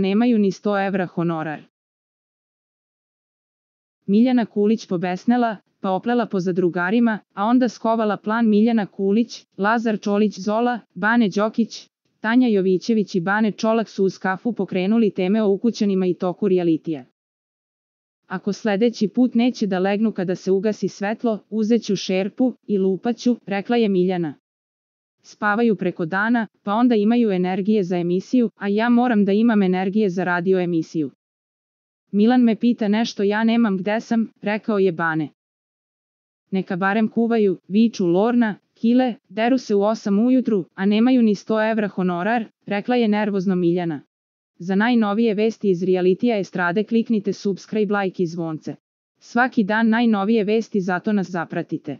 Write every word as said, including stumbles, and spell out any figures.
nemaju ni sto evra honorar. Miljana Kulić pobesnela, pa oplela po zadrugarima, a onda skovala plan. Miljana Kulić, Lazar Čolić Zola, Bane Đokić, Tanja Jovićević i Bane Čolak su uz kafu pokrenuli teme o ukućanima i toku realitija. Ako sledeći put neće da legnu kada se ugasi svetlo, uzeću šerpu i lupaću, rekla je Miljana. Spavaju preko dana, pa onda imaju energije za emisiju, a ja moram da imam energije za radio emisiju. Milan me pita nešto, ja nemam gde sam, rekao je Bane. Neka barem kuvaju, viču Lorna, Kile, deru se u osam ujutru, a nemaju ni sto evra honorar, rekla je nervozno Miljana. Za najnovije vesti iz realitija estrade kliknite subscribe, like i zvonce. Svaki dan najnovije vesti, zato nas zapratite.